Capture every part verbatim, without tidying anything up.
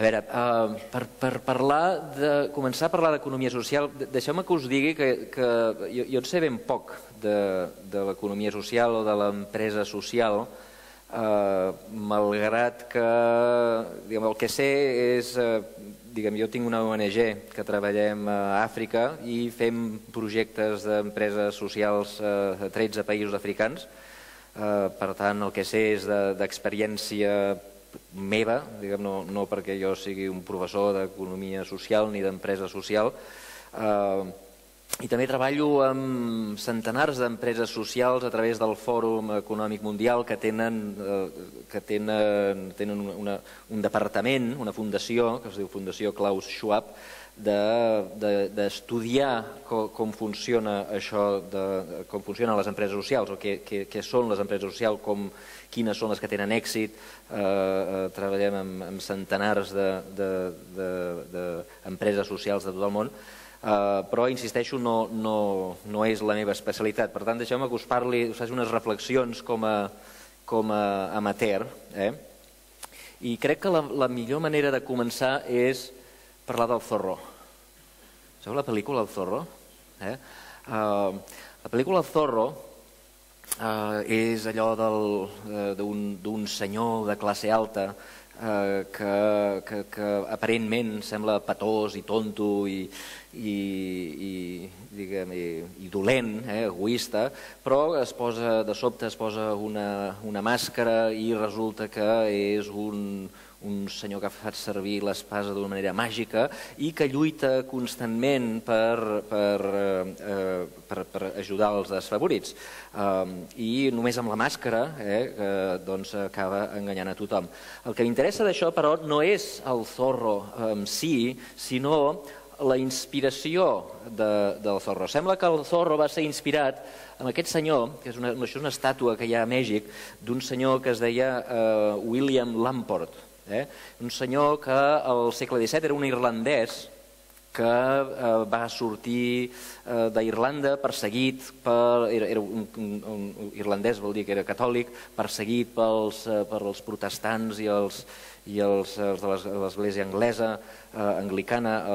veure, per parlar de... començar a parlar d'economia social, deixeu-me que us digui que jo en sé ben poc de l'economia social o de l'empresa social, malgrat que el que sé és... Jo tinc una O N G que treballem a Àfrica i fem projectes d'empreses socials a tretze països africans. Per tant, el que sé és d'experiència meva, no perquè jo sigui un professor d'economia social ni d'empresa social. I també treballo amb centenars d'empreses socials a través del Fòrum Econòmic Mundial que tenen un departament, una fundació, que es diu Fundació Klaus Schwab, d'estudiar com funciona això, com funcionen les empreses socials, o què són les empreses socials, quines són les que tenen èxit. Treballem amb centenars d'empreses socials de tot el món, però, insisteixo, no és la meva especialitat. Per tant, deixeu-me que us parli, us faci unes reflexions com a amateur. I crec que la millor manera de començar és parlar del Zorro. Sabeu la pel·lícula El Zorro? La pel·lícula El Zorro és allò d'un senyor de classe alta que aparentment sembla petós i tonto i dolent, egoista, però de sobte es posa una màscara i resulta que és un senyor que fa servir l'espasa d'una manera màgica i que lluita constantment per ajudar els desfavorits. I només amb la màscara acaba enganyant a tothom. El que m'interessa d'això, però, no és el Zorro en si, sinó la inspiració del Zorro. Sembla que el Zorro va ser inspirat en aquest senyor, que és una estàtua que hi ha a Mèxic, d'un senyor que es deia William Lamport. Un senyor que al segle disset era un irlandès que va sortir d'Irlanda perseguit, era un irlandès, vol dir que era catòlic, perseguit pels protestants i els de l'església anglesa, anglicana,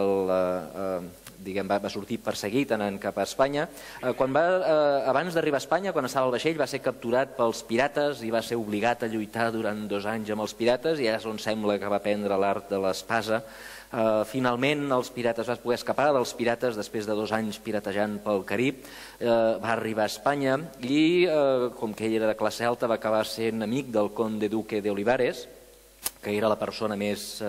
va sortir perseguit anant cap a Espanya. Abans d'arribar a Espanya, quan estava al vaixell, va ser capturat pels pirates i va ser obligat a lluitar durant dos anys amb els pirates, i és on sembla que va aprendre l'art de l'espasa. Finalment els pirates va poder escapar dels pirates després de dos anys piratejant pel Carib, va arribar a Espanya i, com que ell era de classe alta, va acabar sent amic del conde duque de Olivares, que era la persona més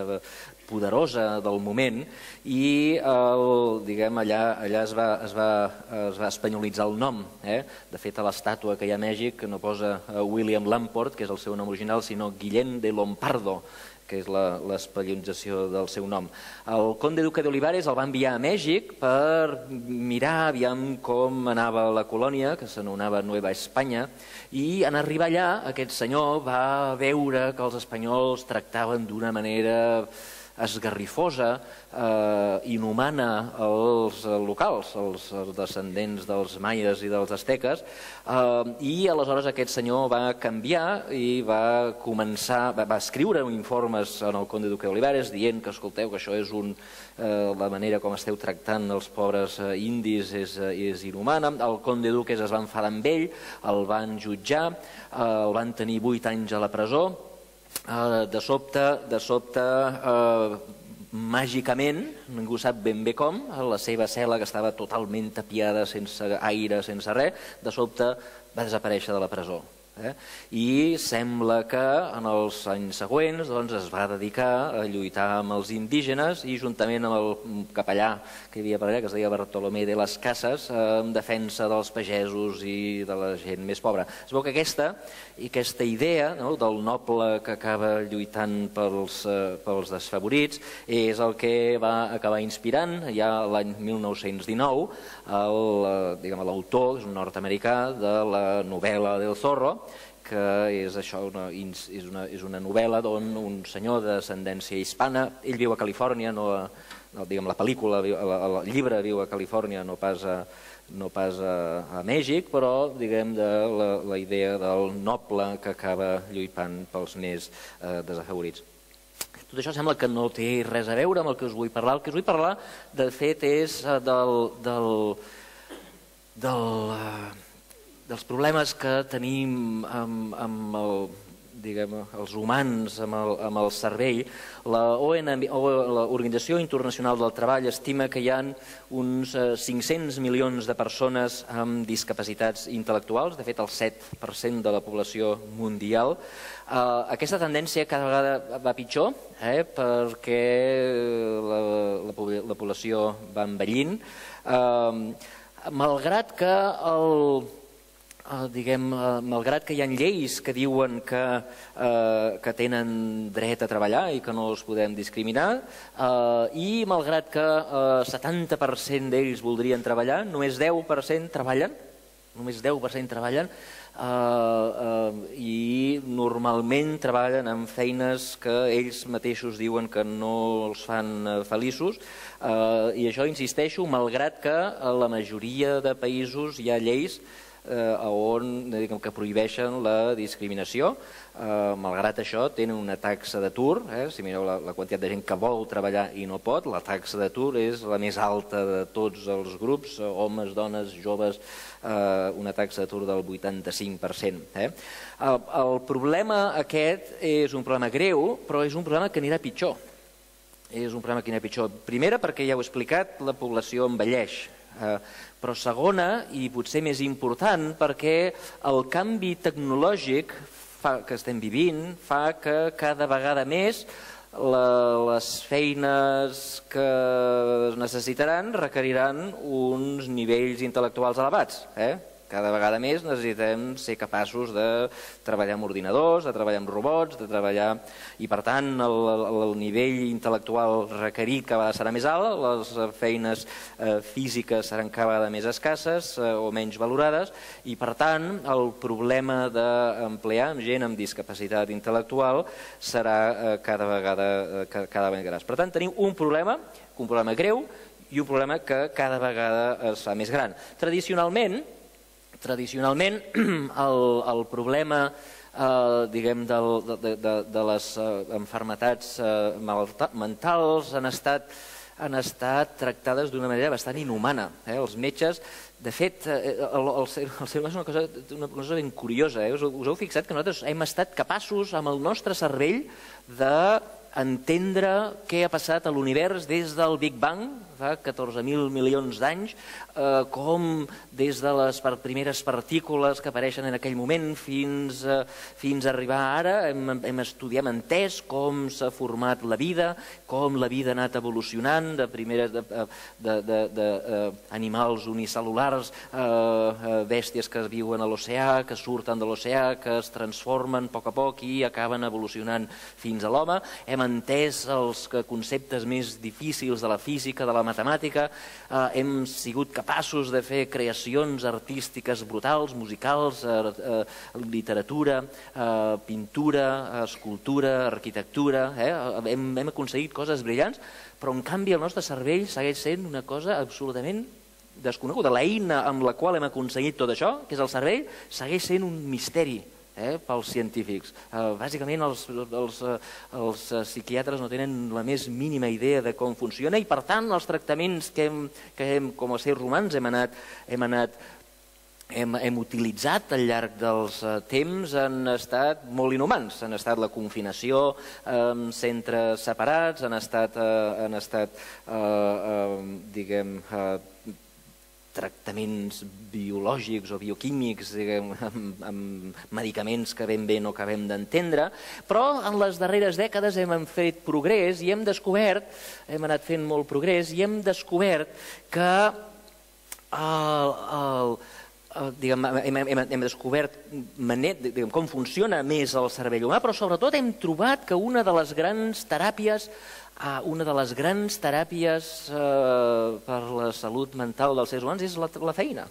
poderosa del moment, i allà es va espanyolitzar el nom. De fet, a l'estàtua que hi ha a Mèxic no posa William Lamport, que és el seu nom original, sinó Guillén de Lompardo, que és l'espanyolització del seu nom. El conde duque de Olivares el va enviar a Mèxic per mirar aviam com anava la colònia, que s'anomenava Nueva Espanya, i en arribar allà aquest senyor va veure que els espanyols tractaven d'una manera esgarrifosa, inhumana els locals, els descendents dels maies i dels asteques, i aleshores aquest senyor va canviar i va començar, va escriure informes en el conde duque d'Olivares dient que, escolteu, que això és la manera com esteu tractant els pobres indis és inhumana. El conde duque es va enfadar amb ell, el van jutjar, el van tenir vuit anys a la presó. De sobte, de sobte, màgicament, ningú sap ben bé com, la seva cel·la, que estava totalment tapiada, sense aire, sense res, de sobte va desaparèixer de la presó. I sembla que en els anys següents es va dedicar a lluitar amb els indígenes i juntament amb el capellà que hi havia per allà, que es deia Bartolomé de las Casas, en defensa dels pagesos i de la gent més pobra. Es veu que aquesta i aquesta idea del noble que acaba lluitant pels desfavorits és el que va acabar inspirant ja l'any mil nou-cents dinou l'autor, és un nord-americà, de la novel·la del Zorro, que és això, és una novel·la d'on un senyor de descendència hispana, ell viu a Califòrnia, la pel·lícula, el llibre viu a Califòrnia, no pas a Mèxic, però diguem de la idea del noble que acaba lluitant pels més desafavorits. Tot això sembla que no té res a veure amb el que us vull parlar. El que us vull parlar, de fet, és del, del, del, dels problemes que tenim amb, amb el, diguem, els humans, amb el, amb el cervell. La O N M, l'Organització Internacional del Treball, estima que hi ha uns cinc-cents milions de persones amb discapacitats intel·lectuals, de fet el set per cent de la població mundial. Uh, aquesta tendència cada vegada va pitjor, eh, perquè la, la, la població va envellint, uh, malgrat que el... Uh, diguem, uh, malgrat que hi ha lleis que diuen que, uh, que tenen dret a treballar i que no els podem discriminar, uh, i malgrat que uh, setanta per cent d'ells voldrien treballar, només deu per cent treballen, només deu per cent treballen, uh, uh, i normalment treballen en feines que ells mateixos diuen que no els fan uh, feliços, uh, i això, insisteixo, malgrat que a la majoria de països hi ha lleis Eh, on diguem, que prohibeixen la discriminació. Eh, malgrat això tenen una taxa d'atur, eh, si mireu la, la quantitat de gent que vol treballar i no pot, la taxa d'atur és la més alta de tots els grups, eh, homes, dones, joves, eh, una taxa d'atur del vuitanta-cinc per cent. Eh. El, el problema aquest és un problema greu, però és un problema que anirà pitjor. És un problema que anirà pitjor. Primera, perquè ja ho he explicat, la població envelleix. Eh, però segona, i potser més important, perquè el canvi tecnològic fa, que estem vivint fa que cada vegada més la, les feines que es necessitaran requeriran uns nivells intel·lectuals elevats. Eh? Cada vegada més necessitem ser capaços de treballar amb ordinadors, de treballar amb robots, de treballar... I, per tant, el, el nivell intel·lectual requerit cada vegada serà més alt, les feines eh, físiques seran cada vegada més escasses eh, o menys valorades, i, per tant, el problema d'emplear amb gent amb discapacitat intel·lectual serà eh, cada vegada eh, cada vegada més gran. Per tant, tenim un problema, un problema greu, i un problema que cada vegada es fa més gran. Tradicionalment, Tradicionalment, el, el problema eh, diguem, del, de, de, de les eh, malalties eh, mentals han estat, han estat tractades d'una manera bastant inhumana. Eh? Els metges, de fet, eh, el, el, ser, el ser humà és una cosa, una cosa ben curiosa. Eh? Us, us heu fixat que nosaltres hem estat capaços, amb el nostre cervell, de entendre què ha passat a l'univers des del Big Bang, fa catorze mil milions d'anys, eh, com des de les primeres partícules que apareixen en aquell moment fins, eh, fins a arribar ara, hem, hem estudiat, hem entès com s'ha format la vida, com la vida ha anat evolucionant de primeres d'animals unicel·lulars, eh, bèsties que viuen a l'oceà, que surten de l'oceà, que es transformen a poc a poc i acaben evolucionant fins a l'home. Hem entès els conceptes més difícils de la física, de la matemàtica, eh, hem sigut capaços de fer creacions artístiques brutals, musicals, eh, eh, literatura, eh, pintura, escultura, arquitectura, eh? hem, hem aconseguit coses brillants, però en canvi el nostre cervell segueix sent una cosa absolutament desconeguda. L'eina amb la qual hem aconseguit tot això, que és el cervell, segueix sent un misteri. Eh, pels científics. Eh, bàsicament els, els, els psiquiatres no tenen la més mínima idea de com funciona i, per tant, els tractaments que, hem, que hem, com a éssers humans hem anat, hem, anat hem, hem utilitzat al llarg dels uh, temps han estat molt inhumans. Han estat la confinació en eh, centres separats, han estat, uh, han estat uh, uh, diguem, uh, tractaments biològics o bioquímics, diguem, amb, amb medicaments que ben bé no acabem d'entendre, però en les darreres dècades hem fet progrés i hem descobert, hem anat fent molt progrés, i hem descobert que el, el, el, diguem, hem, hem, hem descobert manet, diguem, com funciona més el cervell humà, però sobretot hem trobat que una de les grans teràpies Una de les grans teràpies eh, per la salut mental dels éssers humans és la, la feina,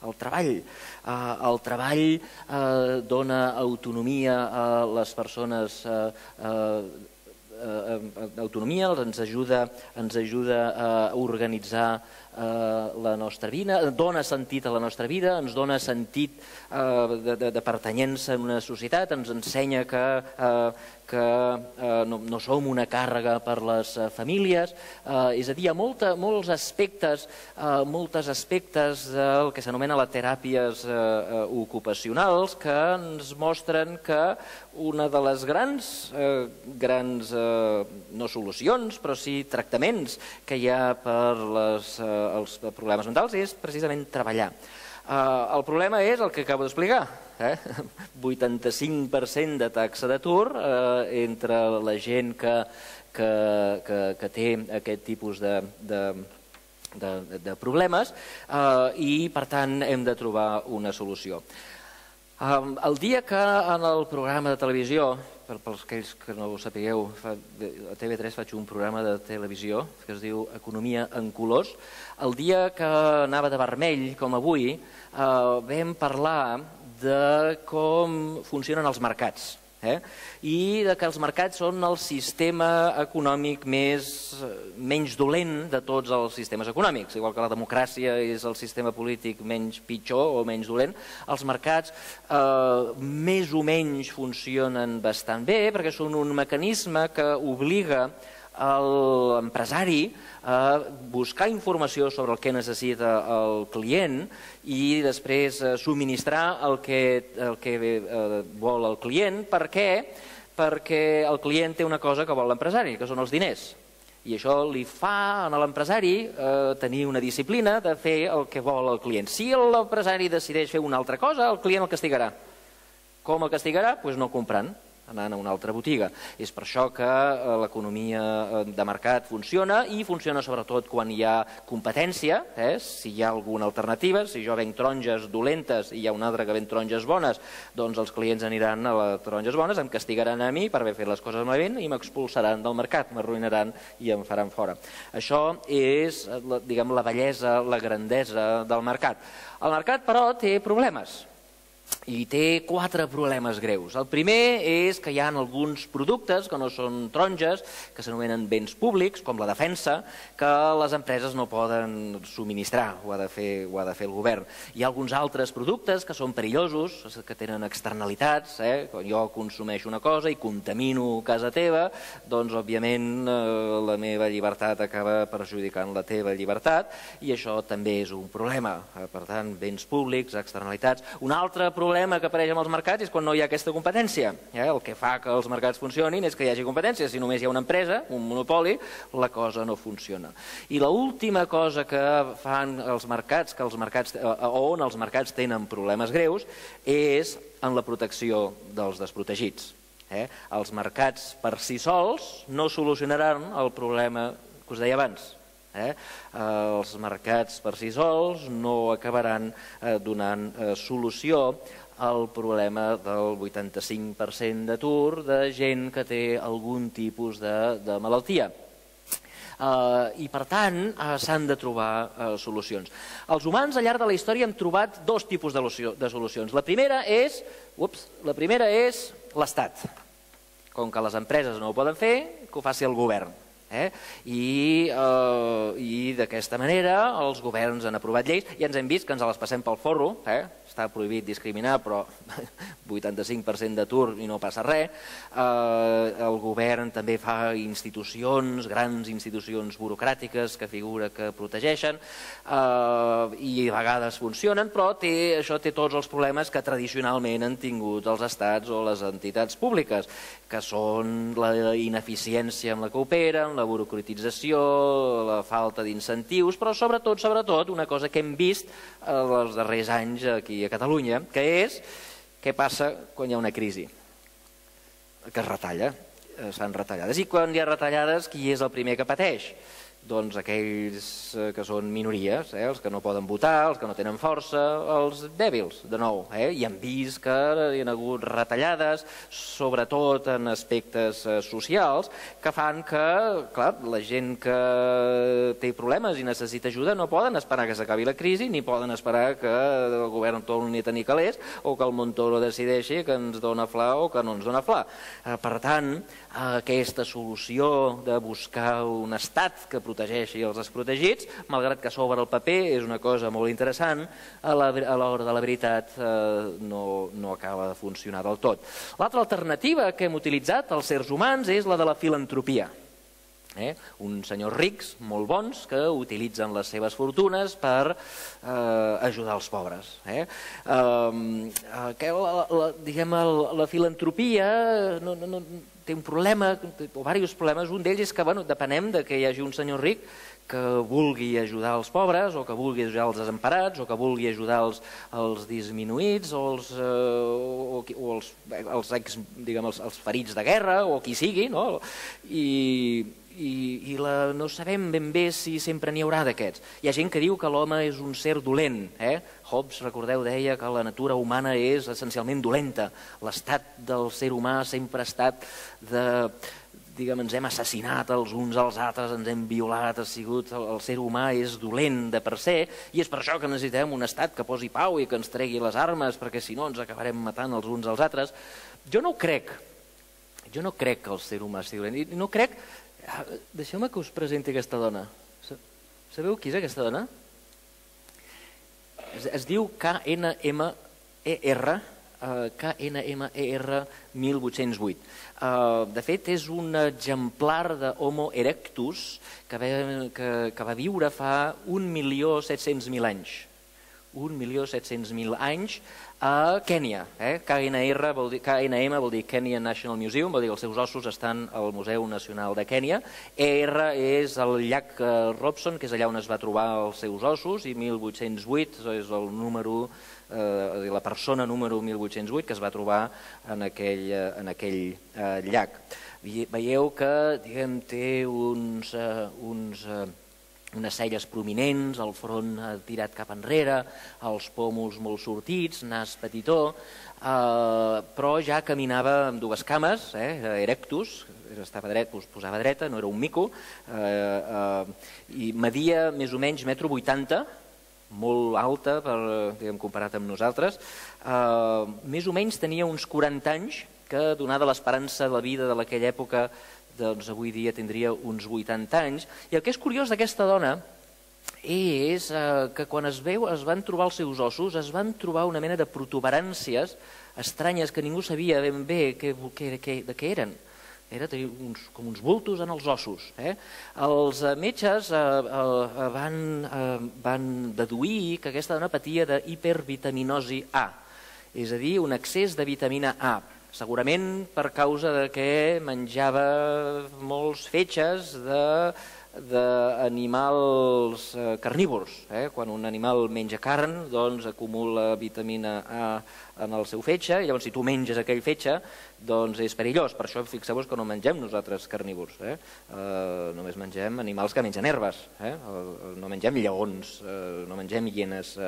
el treball. Eh, el treball eh, dona autonomia a les persones, eh, eh, eh, autonomia, ens ajuda, ens ajuda a organitzar la nostra vida, dona sentit a la nostra vida, ens dona sentit de pertanyença en una societat, ens ensenya que que no som una càrrega per les famílies, és a dir, hi ha molts aspectes, molts aspectes del que s'anomena les teràpies ocupacionals que ens mostren que una de les grans, grans, no solucions, però sí tractaments que hi ha per als problemes mentals és precisament treballar. El problema és el que acabo d'explicar, vuitanta-cinc per cent de taxa d'atur entre la gent que té aquest tipus de problemes i, per tant, hem de trobar una solució. El dia que en el programa de televisió, pels aquells que no ho sapigueu, a T V tres faig un programa de televisió que es diu Economia en colors. El dia que anava de vermell, com avui, vam parlar de com funcionen els mercats i que els mercats són el sistema econòmic menys dolent de tots els sistemes econòmics. Igual que la democràcia és el sistema polític menys pitjor o menys dolent, els mercats més o menys funcionen bastant bé perquè són un mecanisme que obliga l'empresari a buscar informació sobre el que necessita el client i després subministrar el que vol el client. Per què? Perquè el client té una cosa que vol l'empresari, que són els diners. I això li fa a l'empresari tenir una disciplina de fer el que vol el client. Si l'empresari decideix fer una altra cosa, el client el castigarà. Com el castigarà? Doncs no comprant, anant a una altra botiga. És per això que l'economia de mercat funciona i funciona sobretot quan hi ha competència, si hi ha alguna alternativa. Si jo venc taronges dolentes i hi ha un altre que ven taronges bones, doncs els clients aniran a les taronges bones, em castigaran a mi per haver fet les coses malament i m'expulsaran del mercat, m'arruïnaran i em faran fora. Això és, diguem, la bellesa, la grandesa del mercat. El mercat, però, té problemes. I té quatre problemes greus. El primer és que hi ha alguns productes que no són taronges, que s'anomenen béns públics, com la defensa, que les empreses no poden subministrar, ho ha de fer el govern. Hi ha alguns altres productes que són perillosos, que tenen externalitats. Quan jo consumeixo una cosa i contamino casa teva, doncs, òbviament, la meva llibertat acaba perjudicant la teva llibertat i això també és un problema. Per tant, béns públics, externalitats. Un altre problema problema que apareix amb els mercats és quan no hi ha aquesta competència. El que fa que els mercats funcionin és que hi hagi competència. Si només hi ha una empresa, un monopoli, la cosa no funciona. I l'última cosa que fan els mercats, on els mercats tenen problemes greus, és en la protecció dels desprotegits. Els mercats per si sols no solucionaran el problema que us deia abans. Els mercats per si sols no acabaran donant solució al problema del vuitanta-cinc per cent d'atur de gent que té algun tipus de malaltia. I, per tant, s'han de trobar solucions. Els humans, al llarg de la història, hem trobat dos tipus de solucions. La primera és l'Estat. Com que les empreses no ho poden fer, que ho faci el govern. I d'aquesta manera els governs han aprovat lleis i ens hem vist que ens les passem pel forro. Està prohibit discriminar, però vuitanta-cinc per cent d'atur i no passa res. El govern també fa institucions, grans institucions burocràtiques que figura que protegeixen i a vegades funcionen, però això té tots els problemes que tradicionalment han tingut els estats o les entitats públiques, que són la ineficiència amb la que operen, la burocratització, la falta d'incentius, però sobretot, sobretot, una cosa que hem vist els darrers anys aquí a Catalunya, que és què passa quan hi ha una crisi, que es retalla, es fan retallades. I quan hi ha retallades, qui és el primer que pateix? Doncs aquells que són minories, els que no poden votar, els que no tenen força, els dèbils, de nou. I hem vist que hi ha hagut retallades, sobretot en aspectes socials, que fan que, clar, la gent que té problemes i necessita ajuda no poden esperar que s'acabi la crisi, ni poden esperar que el govern torni a tenir calés o que el Montoro decideixi que ens dona fla o que no ens dona fla. Per tant, aquesta solució de buscar un estat que protegeixi els desprotegits, malgrat que sobre el paper és una cosa molt interessant, a l'hora de la veritat no acaba de funcionar del tot. L'altra alternativa que hem utilitzat els éssers humans és la de la filantropia. Uns senyors rics, molt bons, que utilitzen les seves fortunes per ajudar els pobres. La filantropia té un problema, o diversos problemes. Un d'ells és que depenem que hi hagi un senyor ric que vulgui ajudar els pobres, o que vulgui ajudar els desemparats, o que vulgui ajudar els disminuïts, o els ferits de guerra, o qui sigui, i no sabem ben bé si sempre n'hi haurà d'aquests. Hi ha gent que diu que l'home és un ser dolent. Hobbes, recordeu, deia que la natura humana és essencialment dolenta. L'estat del ser humà sempre ha estat de... diguem, ens hem assassinat els uns als altres, ens hem violat, ha sigut... el ser humà és dolent de per se, i és per això que necessitem un estat que posi pau i que ens tregui les armes, perquè si no ens acabarem matant els uns als altres. Jo no crec, jo no crec que el ser humà sigui dolent, i no crec... Deixeu-me que us presenti aquesta dona. Sabeu qui és aquesta dona? Es diu K N M E R, K N M E R mil vuit-cents vuit. De fet, és un exemplar d'Homo erectus que va viure fa un milió set-cents mil anys. un milió set-cents mil anys a Kènia. K N M vol dir Kenya National Museum, vol dir que els seus ossos estan al Museu Nacional de Kènia. E R és el llac Robson, que és allà on es va trobar els seus ossos, i mil vuit-cents vuit és el número, la persona número mil vuit-cents vuit que es va trobar en aquell llac. Veieu que té uns... unes celles prominents, el front tirat cap enrere, els pòmuls molt sortits, nas petitó, però ja caminava amb dues cames, erectus, estava dret, posava dreta, no era un mico, i media més o menys metro vuitanta, molt alta, comparat amb nosaltres. Més o menys tenia uns quaranta anys, que donada l'esperança de la vida de aquella època, doncs avui dia tindria uns vuitanta anys. I el que és curiós d'aquesta dona és que quan es van trobar els seus ossos es van trobar una mena de protuberàncies estranyes que ningú sabia ben bé de què eren. Eren com uns bultos en els ossos. Els metges van deduir que aquesta dona patia d'hipervitaminosi A, és a dir, un excés de vitamina A. Segurament per causa que menjava molts fetges d'animals carnívors. Quan un animal menja carn, doncs acumula vitamina A en el seu fetge, i llavors si tu menges aquell fetge, doncs és perillós. Per això fixeu-vos que no mengem nosaltres carnívors. Només mengem animals que mengen herbes. No mengem lleons, no mengem hienes.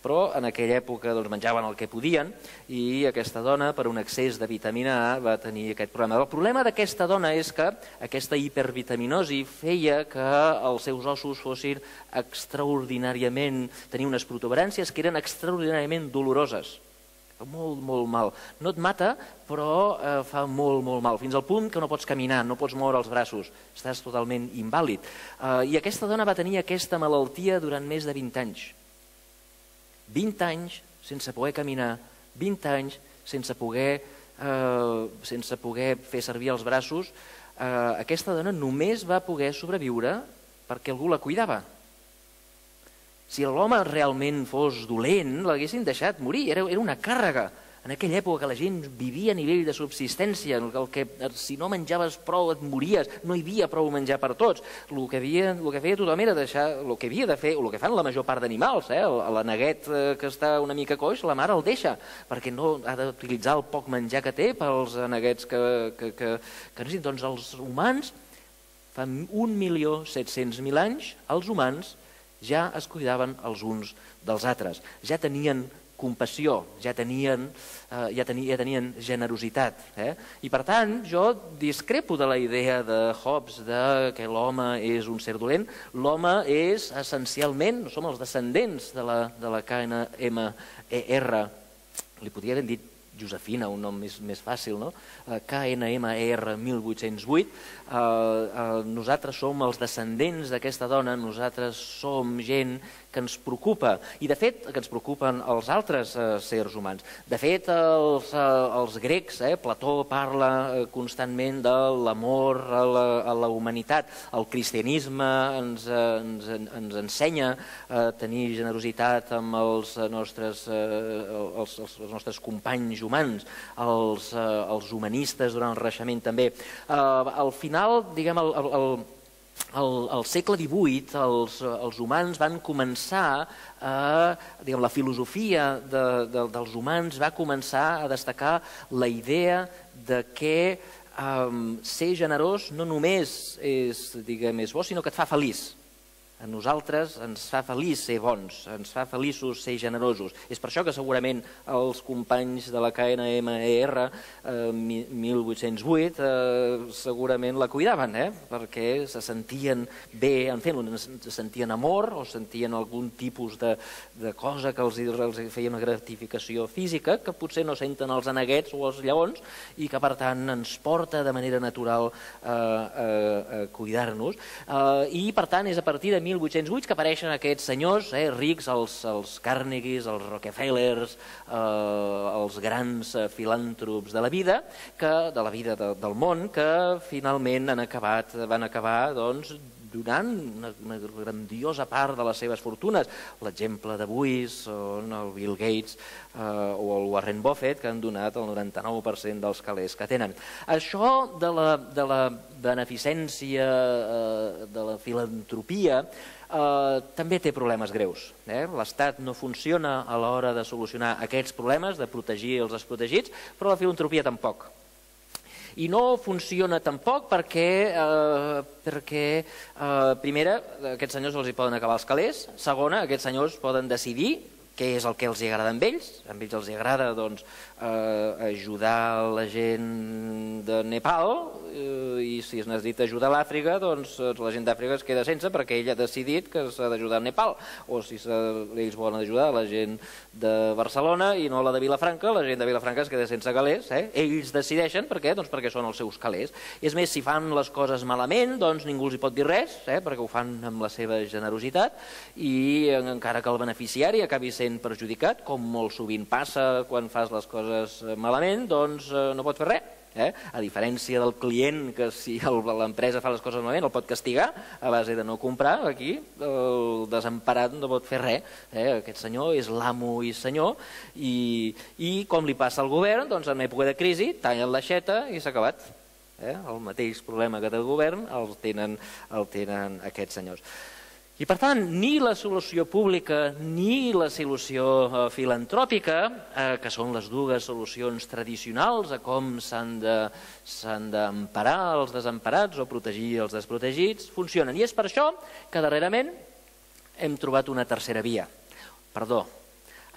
Però en aquella època menjaven el que podien, i aquesta dona, per un excés de vitamina A, va tenir aquest problema. El problema d'aquesta dona és que aquesta hipervitaminosi feia que els seus ossos fossin extraordinàriament... tenien unes protuberàncies que eren extraordinàriament doloroses. Molt, molt mal. No et mata, però fa molt, molt mal, fins al punt que no pots caminar, no pots moure els braços, estàs totalment invàlid. I aquesta dona va tenir aquesta malaltia durant més de vint anys. vint anys sense poder caminar, vint anys sense poder fer servir els braços. Aquesta dona només va poder sobreviure perquè algú la cuidava. Si l'home realment fos dolent, l'haguessin deixat morir, era una càrrega. En aquella època la gent vivia a nivell de subsistència, si no menjaves prou et mories, no hi havia prou menjar per tots. El que feia tothom era deixar, el que havia de fer, o el que fan la major part d'animals, l'aneguet que està una mica coix, la mare el deixa, perquè no ha d'utilitzar el poc menjar que té pels aneguets que necessiten. Doncs els humans, fa un milió set-cents mil anys, els humans ja es cuidaven els uns dels altres, ja tenien compassió, ja tenien generositat. I per tant, jo discrepo de la idea de Hobbes que l'home és un ser dolent. L'home és essencialment, som els descendents de la K N M E R, li podria haver dit Josefina, un nom més, més fàcil, no? K N M E R mil vuit-cents vuit, eh, eh, nosaltres som els descendents d'aquesta dona, nosaltres som gent que ens preocupa, i de fet que ens preocupen els altres eh, sers humans. De fet, els, eh, els grecs, eh, Plató parla eh, constantment de l'amor a, la, a la humanitat. El cristianisme ens, eh, ens, ens ensenya a tenir generositat amb els nostres, eh, els, els, els nostres companys humans, els, eh, els humanistes durant el Renaixement també. Eh, al final, diguem, el, el, el Al, al segle divuit els, els humans van començar a, diguem, la filosofia de, de, dels humans va començar a destacar la idea de que um, ser generós no només és, diguem, és bo, sinó que et fa feliç. A nosaltres ens fa feliç ser bons, ens fa feliços ser generosos. És per això que segurament els companys de la K N M E R eh, mil vuit-cents vuit eh, segurament la cuidaven, eh? Perquè se sentien bé en fer-ho, se sentien amor o sentien algun tipus de, de cosa que els, els feia una gratificació física que potser no senten els aneguets o els lleons i que per tant ens porta de manera natural eh, a, a cuidar-nos. Eh, I per tant és a partir de mil vuit-cents vuit que apareixen aquests senyors eh, rics, els, els Carnegies, els Rockefellers, eh, els grans eh, filàntrops de la vida, que, de la vida de, del món, que finalment han acabat, van acabar doncs, donant una, una grandiosa part de les seves fortunes. L'exemple d'avui són el Bill Gates eh, o el Warren Buffett, que han donat el noranta-nou per cent dels calés que tenen. Això de la, de la beneficència, eh, de la filantropia, eh, també té problemes greus. Eh? L'Estat no funciona a l'hora de solucionar aquests problemes, de protegir els desprotegits, però la filantropia tampoc. I no funciona tampoc perquè, eh, perquè eh, primera, aquests senyors els hi poden acabar els calés, segona, aquests senyors poden decidir què és el que els agrada amb ells. A ells els agrada doncs, eh, ajudar la gent de Nepal eh, i si es necessita ajudar a l'Àfrica, doncs la gent d'Àfrica es queda sense perquè ell ha decidit que s'ha d'ajudar a Nepal. O si ells volen ajudar la gent de Barcelona i no la de Vilafranca, la gent de Vilafranca es queda sense calés. Eh? Ells decideixen per què? Doncs perquè són els seus calés. És més, si fan les coses malament, doncs ningú els hi pot dir res, eh? Perquè ho fan amb la seva generositat i encara que el beneficiari acabi sent perjudicat, com molt sovint passa quan fas les coses malament, doncs no pot fer res. Eh? A diferència del client, que si l'empresa fa les coses malament el pot castigar a base de no comprar, aquí el desemparat no pot fer res. Eh? Aquest senyor és l'amo i senyor i, i com li passa al govern, doncs en època de crisi tallen l'aixeta i s'ha acabat. Eh? El mateix problema que té el govern el tenen, el tenen aquests senyors. I per tant, ni la solució pública ni la solució eh, filantròpica, eh, que són les dues solucions tradicionals a com s'han de, s'han d'emparar els desemparats o protegir els desprotegits, funcionen. I és per això que darrerament hem trobat una tercera via. Perdó,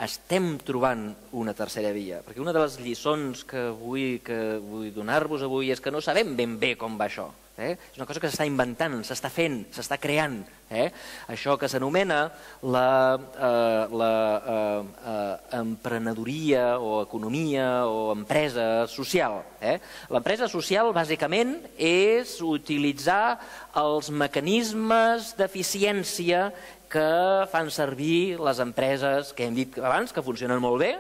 estem trobant una tercera via, perquè una de les lliçons que vull, que vull donar-vos avui és que no sabem ben bé com va això. Eh? És una cosa que s'està inventant, s'està fent, s'està creant. Eh? Això que s'anomena la, eh, la eh, eh, emprenedoria o economia o empresa social. Eh? L'empresa social bàsicament és utilitzar els mecanismes d'eficiència que fan servir les empreses que hem dit abans, que funcionen molt bé,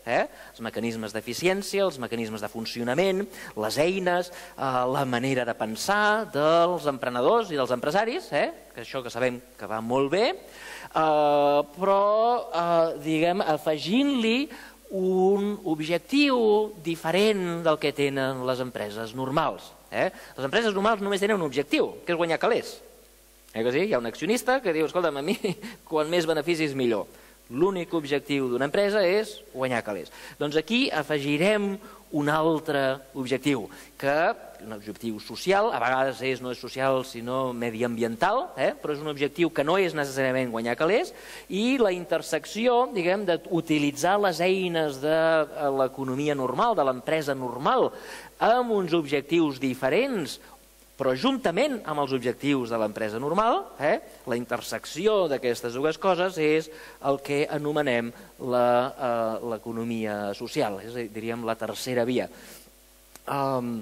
eh? Els mecanismes d'eficiència, els mecanismes de funcionament, les eines, eh, la manera de pensar dels emprenedors i dels empresaris, eh? Que això que sabem que va molt bé, eh, però eh, diguem, afegint-li un objectiu diferent del que tenen les empreses normals. Eh? Les empreses normals només tenen un objectiu, que és guanyar calés. Eh que sí? Hi ha un accionista que diu, escolta'm, a mi quan més beneficis millor. L'únic objectiu d'una empresa és guanyar calés. Doncs aquí afegirem un altre objectiu, que un objectiu social, a vegades és, no és social sinó mediambiental, eh? Però és un objectiu que no és necessàriament guanyar calés, i la intersecció, diguem, d'utilitzar les eines de l'economia normal, de l'empresa normal, amb uns objectius diferents, Però juntament amb els objectius de l'empresa normal, eh, la intersecció d'aquestes dues coses és el que anomenem l'economia social, és a dir, diríem la tercera via. Um,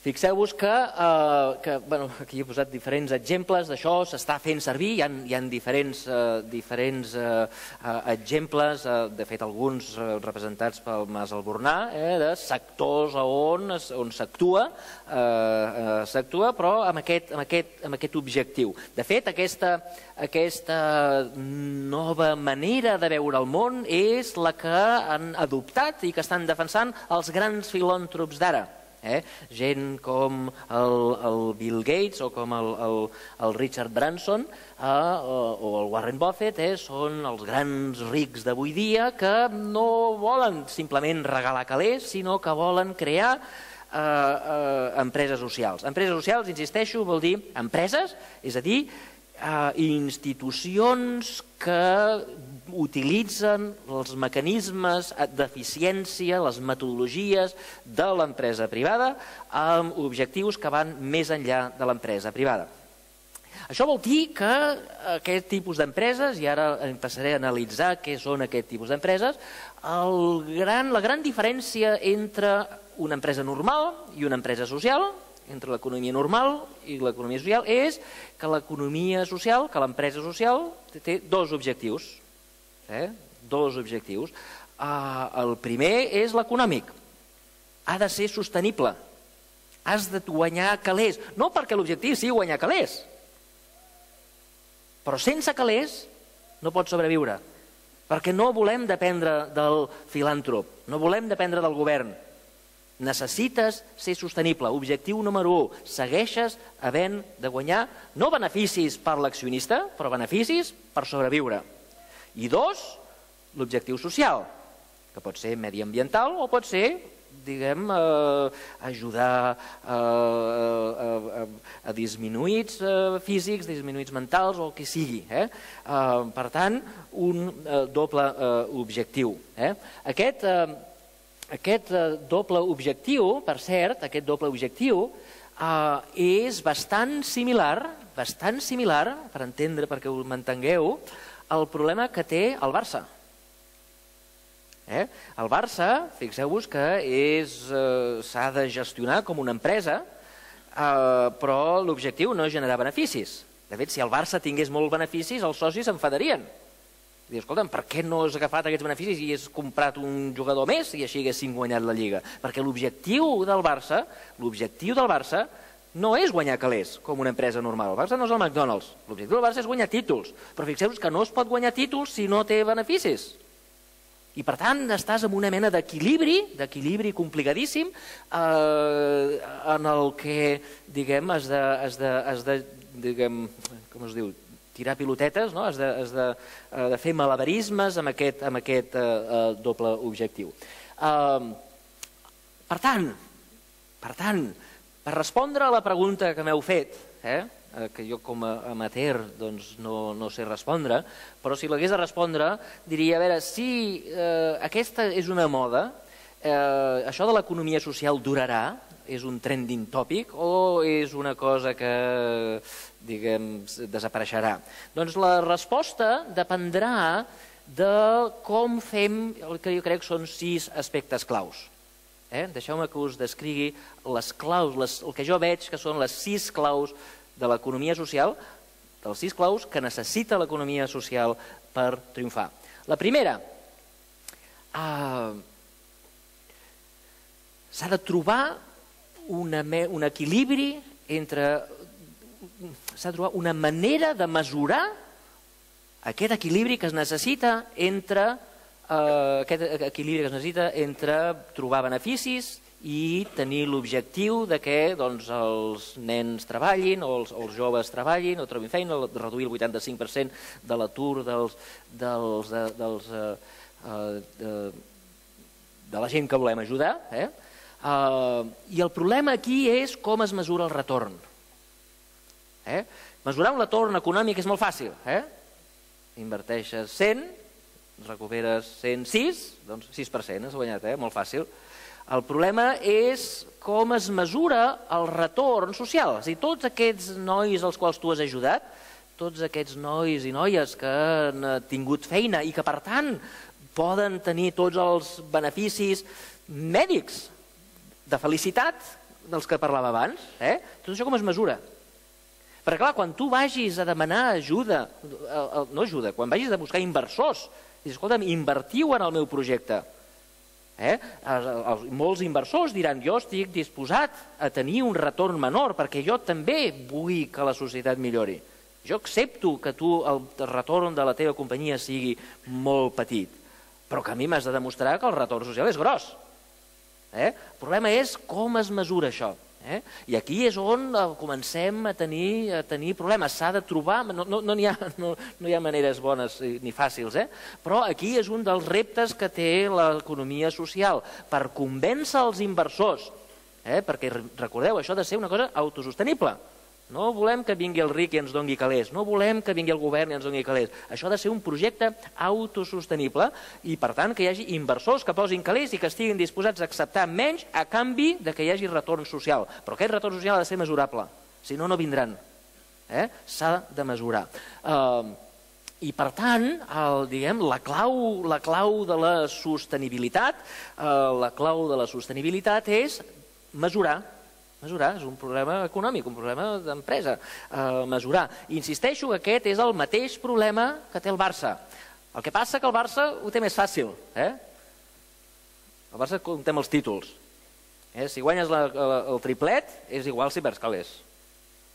Fixeu-vos que, eh, que bueno, aquí he posat diferents exemples d'això, s'està fent servir, hi ha, hi ha diferents, eh, diferents eh, exemples, eh, de fet alguns eh, representats pel Mas Albornà, eh, de sectors on, on s'actua, eh, eh, s'actua, però amb aquest, amb, aquest, amb aquest objectiu. De fet, aquesta, aquesta nova manera de veure el món és la que han adoptat i que estan defensant els grans filàntrops d'ara. Eh? Gent com el, el Bill Gates o com el, el, el Richard Branson eh, o, o el Warren Buffett eh, són els grans rics d'avui dia que no volen simplement regalar calés, sinó que volen crear eh, eh, empreses socials. Empreses socials, insisteixo, vol dir empreses, és a dir, eh, institucions que utilitzen els mecanismes d'eficiència, les metodologies de l'empresa privada amb objectius que van més enllà de l'empresa privada. Això vol dir que aquest tipus d'empreses, i ara passaré a analitzar què són aquest tipus d'empreses, la gran diferència entre una empresa normal i una empresa social, entre l'economia normal i l'economia social, és que l'economia social, que l'empresa social, té dos objectius. Eh? Dos objectius. Uh, el primer és l'econòmic. Ha de ser sostenible. Has de guanyar calés. No perquè l'objectiu sigui guanyar calés, però sense calés no pots sobreviure. Perquè no volem dependre del filàntrop, no volem dependre del govern. Necessites ser sostenible. Objectiu número u. Segueixes havent de guanyar no beneficis per l'accionista, però beneficis per sobreviure. I dos, l'objectiu social, que pot ser mediambiental o pot ser, diguem, eh, ajudar eh, a, a, a disminuïts eh, físics, disminuïts mentals o el que sigui. Eh? Eh, per tant, un eh, doble eh, objectiu. Eh? Aquest, eh, aquest eh, doble objectiu, per cert, aquest doble objectiu eh, és bastant similar, bastant similar, per entendre, perquè ho m'entengueu, el problema que té el Barça. Eh? El Barça, fixeu-vos que s'ha de gestionar com una empresa, eh, però l'objectiu no és generar beneficis. De fet, si el Barça tingués molts beneficis, els socis s'enfadarien. Diu, escolta'm, per què no has agafat aquests beneficis i has comprat un jugador més i així haguéssim guanyat la Lliga? Perquè l'objectiu del Barça, l'objectiu del Barça no és guanyar calés, com una empresa normal. El Barça no és el McDonald's. L'objectiu del Barça és guanyar títols. Però fixeu-vos que no es pot guanyar títols si no té beneficis. I per tant estàs en una mena d'equilibri, d'equilibri complicadíssim, eh, en el que, diguem, has de, has de, has de diguem, com es diu, tirar pilotetes, no? Has de, has de, de fer malabarismes amb aquest, amb aquest eh, doble objectiu. Eh, per tant, per tant, per respondre a la pregunta que m'heu fet, eh, que jo com a amateur doncs, no, no sé respondre, però si l'hagués de respondre diria, a veure, si eh, aquesta és una moda, eh, això de l'economia social durarà, és un trending topic o és una cosa que, diguem, desapareixerà? Doncs la resposta dependrà de com fem el que jo crec que són sis aspectes claus. Eh? Deixeu-me que us descrigui les claus, les, el que jo veig que són les sis claus de l'economia social, dels sis claus que necessita l'economia social per triomfar. La primera, eh, s'ha de trobar una, un equilibri entre... s'ha de trobar una manera de mesurar aquest equilibri que es necessita entre... Uh, aquest equilibri que es necessita entre trobar beneficis i tenir l'objectiu de que doncs, els nens treballin o els, els joves treballin o trobin feina, reduir el vuitanta-cinc per cent de l'atur dels, dels, dels, uh, uh, de, de la gent que volem ajudar. Eh? Uh, I el problema aquí és com es mesura el retorn. Eh? Mesurar un retorn econòmic és molt fàcil. Eh? Inverteixes cent, recuperes cent sis, doncs sis per cent has guanyat, eh? Molt fàcil. El problema és com es mesura el retorn social. És a dir, tots aquests nois als quals tu has ajudat, tots aquests nois i noies que han tingut feina i que, per tant, poden tenir tots els beneficis mèdics de felicitat dels que parlava abans, eh? Tot això com es mesura? Perquè, clar, quan tu vagis a demanar ajuda, no ajuda, quan vagis a buscar inversors, dius, escolta'm, invertiu en el meu projecte. Eh? Molts inversors diran, jo estic disposat a tenir un retorn menor perquè jo també vull que la societat millori. Jo accepto que tu el retorn de la teva companyia sigui molt petit, però que a mi m'has de demostrar que el retorn social és gros. Eh? El problema és com es mesura això. Eh? I aquí és on comencem a tenir, a tenir problemes. S'ha de trobar, no, no, no, hi ha, no, no hi ha maneres bones ni fàcils, eh? Però aquí és un dels reptes que té l'economia social, per convèncer els inversors, eh? Perquè recordeu, això ha de ser una cosa autosostenible. No volem que vingui el ric i ens doni calés, no volem que vingui el govern i ens doni calés. Això ha de ser un projecte autosostenible i, per tant, que hi hagi inversors que posin calés i que estiguin disposats a acceptar menys a canvi de que hi hagi retorn social. Però aquest retorn social ha de ser mesurable, si no, no vindran. Eh? S'ha de mesurar. Uh, I, per tant, el, diguem, la, clau, la clau de la sostenibilitat, uh, la clau de la sostenibilitat és mesurar. Mesurar és un problema econòmic, un problema d'empresa. Eh, mesurar. Insisteixo que aquest és el mateix problema que té el Barça. El que passa que el Barça ho té més fàcil. Eh? El Barça comptem els títols. Eh? Si guanyes la, la, el triplet, és igual si perds calés.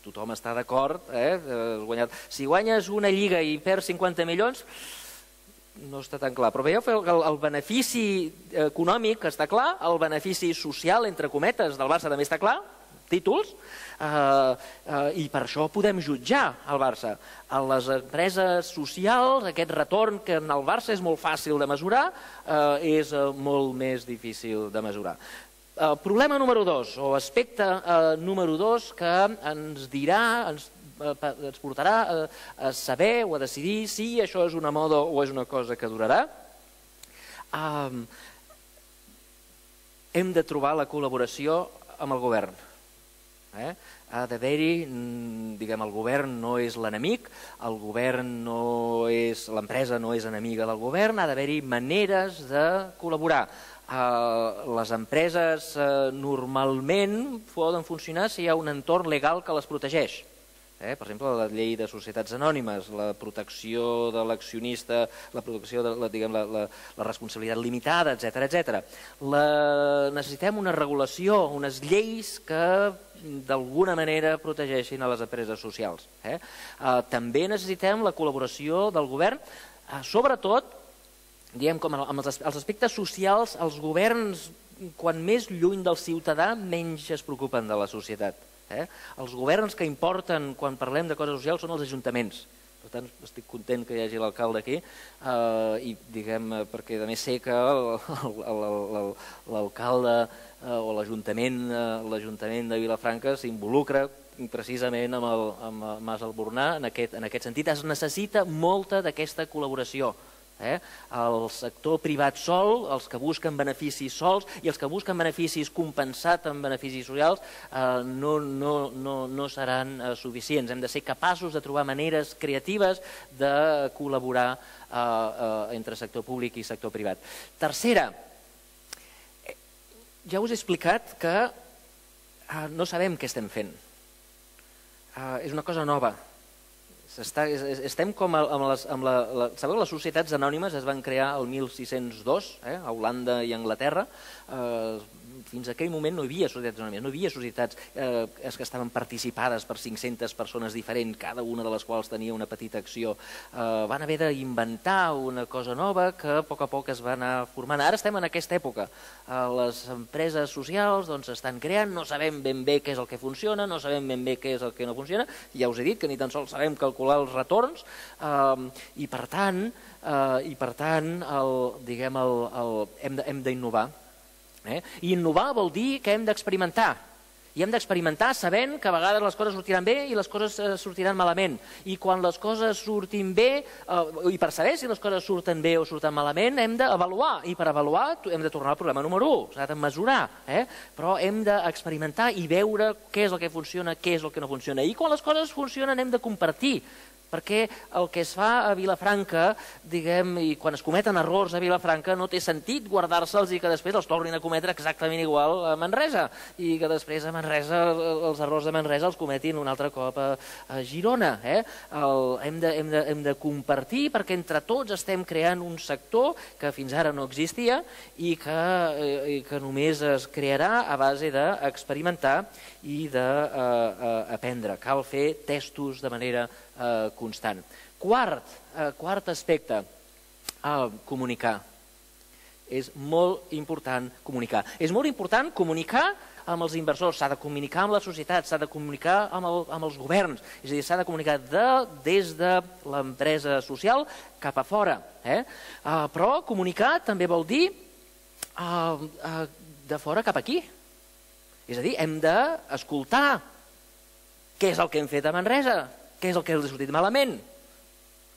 Tothom està d'acord. Eh? Guanyat. Si guanyes una lliga i perds cinquanta milions, no està tan clar. Però veieu que el, el benefici econòmic està clar, el benefici social, entre cometes, del Barça també està clar, títols, eh, eh, i per això podem jutjar el Barça. A les empreses socials, aquest retorn que en el Barça és molt fàcil de mesurar, eh, és molt més difícil de mesurar. Eh, problema número dos, o aspecte eh, número dos, que ens dirà, ens ens portarà a saber o a decidir si això és una moda o és una cosa que durarà. Um, hem de trobar la col·laboració amb el govern. Eh? Ha d'haver-hi, diguem, el govern no és l'enemic, el govern no és, l'empresa no és enemiga del govern, ha d'haver-hi maneres de col·laborar. Uh, les empreses uh, normalment poden funcionar si hi ha un entorn legal que les protegeix. Eh, per exemple, la llei de societats anònimes, la protecció de l'accionista, la protecció de la, diguem, la, la, la responsabilitat limitada, etcètera, etcètera. La, necessitem una regulació, unes lleis que d'alguna manera protegeixin a les empreses socials. Eh? Eh, també necessitem la col·laboració del govern, eh, sobretot, diguem, com amb els aspectes socials, els governs, quan més lluny del ciutadà, menys es preocupen de la societat. Eh? Els governs que importen quan parlem de coses socials són els ajuntaments. Per tant, estic content que hi hagi l'alcalde aquí, eh, i diguem, perquè a més sé que l'alcalde eh, o l'Ajuntament eh, l'Ajuntament de Vilafranca s'involucra precisament amb el, amb el Mas Albornà en aquest, en aquest sentit. Es necessita molta d'aquesta col·laboració. Eh? El sector privat sol, els que busquen beneficis sols i els que busquen beneficis compensat amb beneficis socials eh, no, no, no, no seran eh, suficients. Hem de ser capaços de trobar maneres creatives de col·laborar eh, eh, entre sector públic i sector privat. Tercera, eh, ja us he explicat que eh, no sabem què estem fent. Eh, és una cosa nova. Està, estem com amb les, amb la, la, sabeu, les societats anònimes es van crear el mil sis-cents dos, eh, a Holanda i Anglaterra. Eh, fins a aquell moment no hi havia societats anònimes, no hi havia societats eh, que estaven participades per cinc-centes persones diferents, cada una de les quals tenia una petita acció. Eh, van haver d'inventar una cosa nova que a poc a poc es va anar formant. Ara estem en aquesta època. Eh, les empreses socials doncs, estan creant, no sabem ben bé què és el que funciona, no sabem ben bé què és el que no funciona. Ja us he dit que ni tan sols sabem calcular els retorns eh, i per tant, eh, i per tant el, diguem, el, el, hem d'innovar. Eh? I innovar vol dir que hem d'experimentar. I hem d'experimentar sabent que a vegades les coses sortiran bé i les coses sortiran malament. I quan les coses surtin bé, i per saber si les coses surten bé o surten malament, hem d'avaluar. I per avaluar hem de tornar al problema número u, s'ha de mesurar. Però hem d'experimentar i veure què és el que funciona, què és el que no funciona. I quan les coses funcionen hem de compartir. Perquè el que es fa a Vilafranca, diguem, i quan es cometen errors a Vilafranca, no té sentit guardar-se'ls i que després els tornin a cometre exactament igual a Manresa, i que després a Manresa els errors de Manresa els cometin un altre cop a Girona. Hem de compartir perquè entre tots estem creant un sector que fins ara no existia i que només es crearà a base d'experimentar i d'aprendre. Cal fer testos de manera constant. Quart, quart aspecte, comunicar. És molt important comunicar. És molt important comunicar amb els inversors, s'ha de comunicar amb la societat, s'ha de comunicar amb els governs, és a dir, s'ha de comunicar des de l'empresa social cap a fora. Però comunicar també vol dir de fora cap aquí. És a dir, hem d'escoltar què és el que hem fet a Manresa, què és el que els ha sortit malament.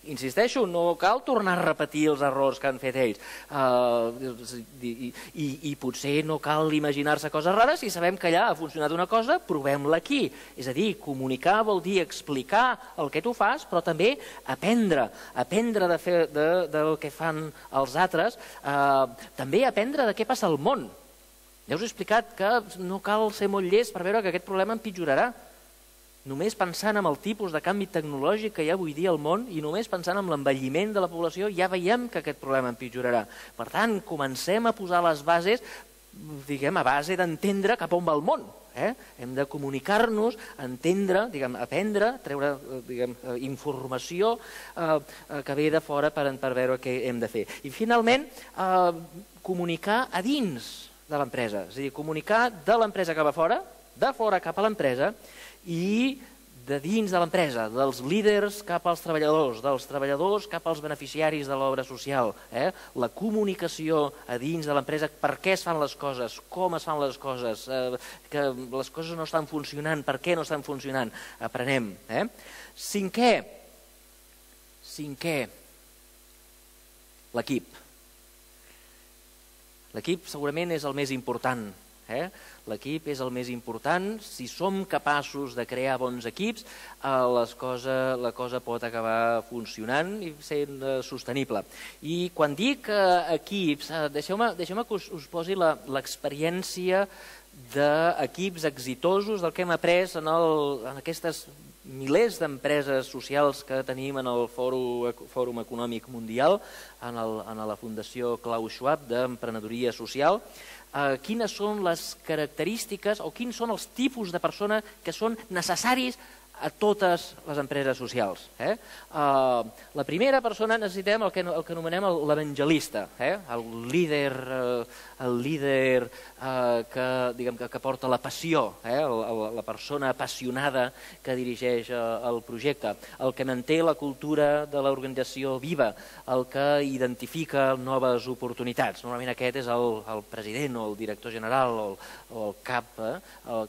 Insisteixo, no cal tornar a repetir els errors que han fet ells. I potser no cal imaginar-se coses rares. Si sabem que allà ha funcionat una cosa, provem-la aquí. És a dir, comunicar vol dir explicar el que tu fas, però també aprendre. Aprendre del que fan els altres. També aprendre de què passa al món. Ja us he explicat que no cal ser molt llest per veure que aquest problema empitjorarà. Només pensant en el tipus de canvi tecnològic que hi ha avui dia al món i només pensant en l'envelliment de la població ja veiem que aquest problema empitjorarà. Per tant, comencem a posar les bases, diguem, a base d'entendre cap a on va el món. Hem de comunicar-nos, entendre, aprendre, treure informació que ve de fora per veure què hem de fer. I finalment, comunicar a dins de l'empresa, és a dir, comunicar de l'empresa cap a fora, de fora cap a l'empresa, i de dins de l'empresa, dels líders cap als treballadors, dels treballadors cap als beneficiaris de l'obra social. La comunicació a dins de l'empresa, per què es fan les coses, com es fan les coses, que les coses no estan funcionant, per què no estan funcionant, aprenem. Cinquè, cinquè, l'equip. L'equip segurament és el més important. L'equip és el més important. Si som capaços de crear bons equips, la cosa pot acabar funcionant i sent sostenible. I quan dic equips, deixeu-me que us posi l'experiència d'equips exitosos del que hem après en aquestes milers d'empreses socials que tenim en el Fòrum Econòmic Mundial, en la Fundació Klaus Schwab d'Emprenedoria Social. Quines són les característiques o quins són els tipus de persona que són necessaris a totes les empreses socials. La primera persona necessitem el que anomenem l'evangelista, el líder que porta la passió, la persona apassionada que dirigeix el projecte, el que manté la cultura de l'organització viva, el que identifica noves oportunitats. Normalment aquest és el president o el director general o el cap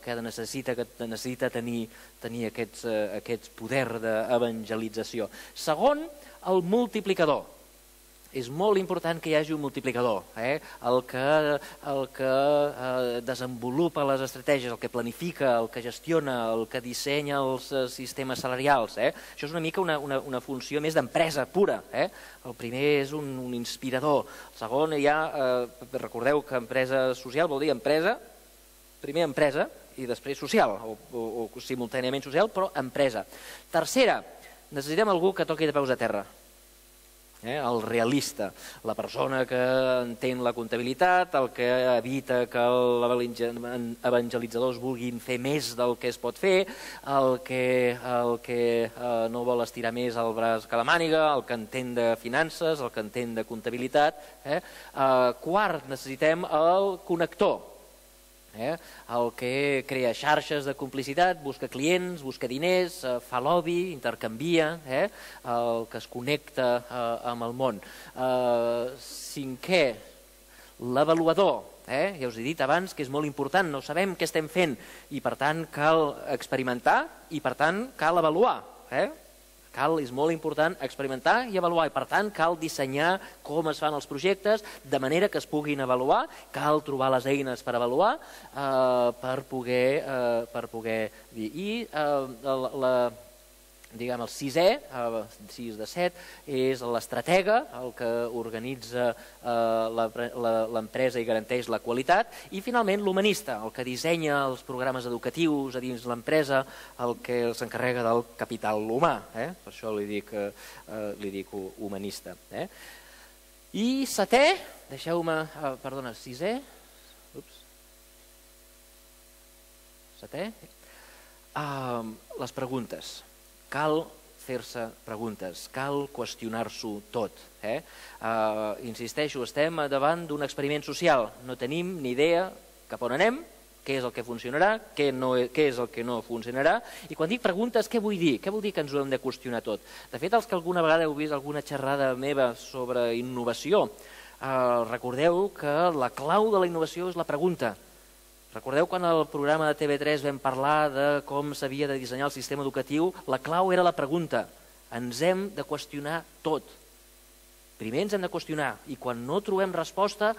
que necessita tenir tenir aquest poder d'evangelització. Segon, el multiplicador. És molt important que hi hagi un multiplicador, el que desenvolupa les estratègies, el que planifica, el que gestiona, el que dissenya els sistemes salarials. Això és una mica una funció més d'empresa pura. El primer és un inspirador. El segon, ja recordeu que empresa social vol dir empresa, primer empresa, i després social, o simultàniament social, però empresa. Tercera, necessitem algú que toqui de peus a terra. El realista, la persona que entén la comptabilitat, el que evita que els evangelitzadors vulguin fer més del que es pot fer, el que no vol estirar més el braç que la màniga, el que entén de finances, el que entén de comptabilitat. Quart, necessitem el connector, el que crea xarxes de complicitat, busca clients, busca diners, fa lobby, intercanvia, el que es connecta amb el món. Cinquè, l'avaluador. Ja us he dit abans que és molt important, no sabem què estem fent i per tant cal experimentar i per tant cal avaluar. Cal, és molt important experimentar i avaluar i per tant cal dissenyar com es fan els projectes de manera que es puguin avaluar, cal trobar les eines per avaluar per poder dir. I la diguem, el sisè, el sis de set, és l'estratega, el que organitza l'empresa i garanteix la qualitat, i finalment l'humanista, el que dissenya els programes educatius a dins l'empresa, el que s'encarrega del capital humà, per això li dic humanista. I setè, deixeu-me, perdona, sisè, setè, les preguntes. Cal fer-se preguntes, cal qüestionar-s'ho tot. Insisteixo, estem davant d'un experiment social, no tenim ni idea cap on anem, què és el que funcionarà, què és el que no funcionarà, i quan dic preguntes, què vull dir? Què vol dir que ens ho hem de qüestionar tot? De fet, els que alguna vegada heu vist alguna xerrada meva sobre innovació, recordeu que la clau de la innovació és la pregunta. Recordeu quan al programa de T V tres vam parlar de com s'havia de dissenyar el sistema educatiu? La clau era la pregunta. Ens hem de qüestionar tot. Primer ens hem de qüestionar i quan no trobem resposta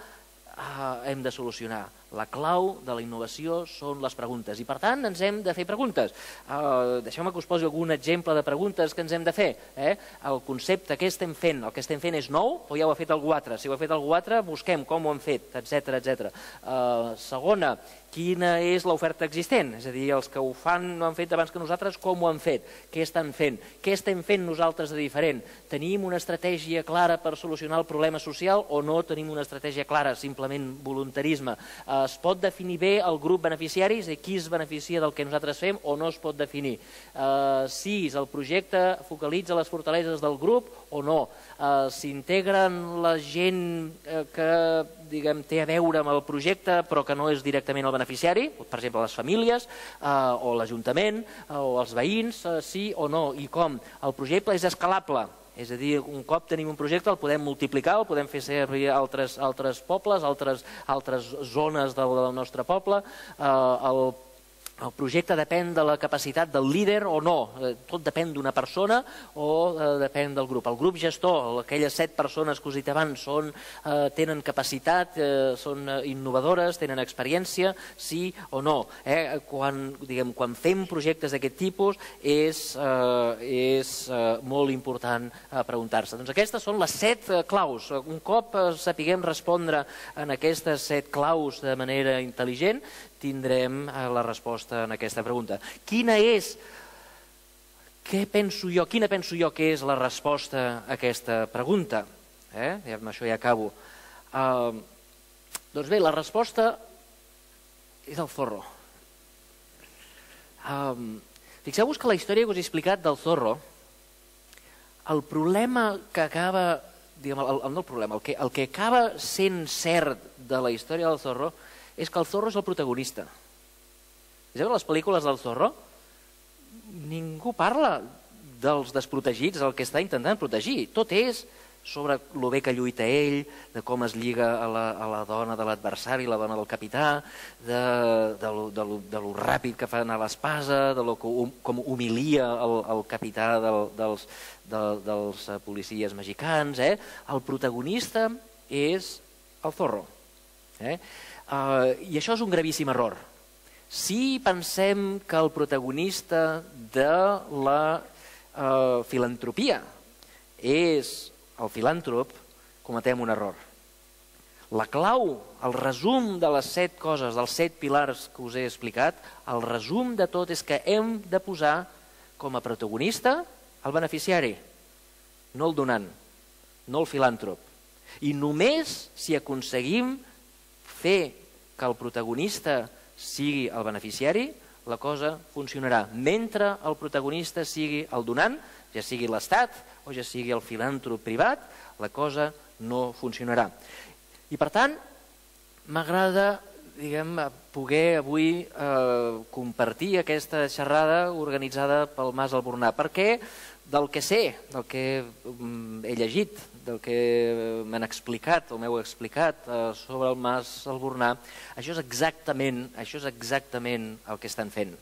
hem de solucionar. La clau de la innovació són les preguntes i per tant ens hem de fer preguntes. Deixeu-me que us posi algun exemple de preguntes que ens hem de fer. El concepte, què estem fent? El que estem fent és nou o ja ho ha fet algú altre? Si ho ha fet algú altre, busquem com ho han fet, etcètera, etcètera. Segona, quina és l'oferta existent? És a dir, els que ho fan no han fet abans que nosaltres, com ho han fet? Què estan fent? Què estem fent nosaltres de diferent? Tenim una estratègia clara per solucionar el problema social o no tenim una estratègia clara, simplement voluntarisme? Es pot definir bé el grup beneficiari, és a dir, qui es beneficia del que nosaltres fem o no es pot definir? Sis, el projecte focalitza les fortaleses del grup o no? S'integren la gent que té a veure amb el projecte però que no és directament el beneficiari, per exemple les famílies o l'Ajuntament o els veïns, sí o no, i com? El projecte és escalable, és a dir, un cop tenim un projecte el podem multiplicar, el podem fer servir a altres pobles, altres zones del nostre poble. El projecte depèn de la capacitat del líder o no, tot depèn d'una persona o depèn del grup. El grup gestor, aquelles set persones que us he dit abans, tenen capacitat, són innovadores, tenen experiència, sí o no. Quan fem projectes d'aquest tipus és molt important preguntar-se. Doncs aquestes són les set claus. Un cop sapiguem respondre en aquestes set claus de manera intel·ligent, tindrem la resposta en aquesta pregunta. Quina és, què penso jo, quina penso jo que és la resposta a aquesta pregunta? Amb això ja acabo. Doncs bé, la resposta és el Zorro. Fixeu-vos que la història que us he explicat del Zorro, el problema que acaba, no el problema, el que acaba sent cert de la història del Zorro és que el Zorro és el protagonista. Veieu les pel·lícules del Zorro? Ningú parla dels desprotegits, el que està intentant protegir. Tot és sobre el bé que lluita ell, de com es lliga a la dona de l'adversari, la dona del capità, de lo ràpid que fa anar l'espasa, de com humilia el capità dels policies mexicans. El protagonista és el Zorro. I això és un gravíssim error. Si pensem que el protagonista de la filantropia és el filàntrop, cometem un error. La clau, el resum de les set coses, dels set pilars que us he explicat, el resum de tot és que hem de posar com a protagonista el beneficiari, no el donant, no el filàntrop. I només si aconseguim fer que el protagonista sigui el beneficiari, la cosa funcionarà. Mentre el protagonista sigui el donant, ja sigui l'Estat o ja sigui el filàntrop privat, la cosa no funcionarà. I per tant, m'agrada poder avui compartir aquesta xerrada organitzada pel Mas Albornà. Per què? del que sé, del que he llegit, del que m'han explicat o m'heu explicat sobre el Mas Albornà, això és exactament, això és exactament el que estan fent.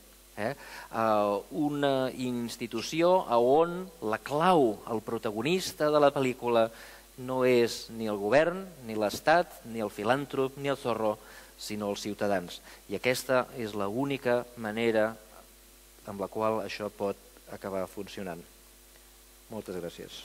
Una institució on la clau, el protagonista de la pel·lícula, no és ni el govern, ni l'Estat, ni el filàntrop, ni el zorro, sinó els ciutadans. I aquesta és l'única manera amb la qual això pot acabar funcionant. Moltes gràcies.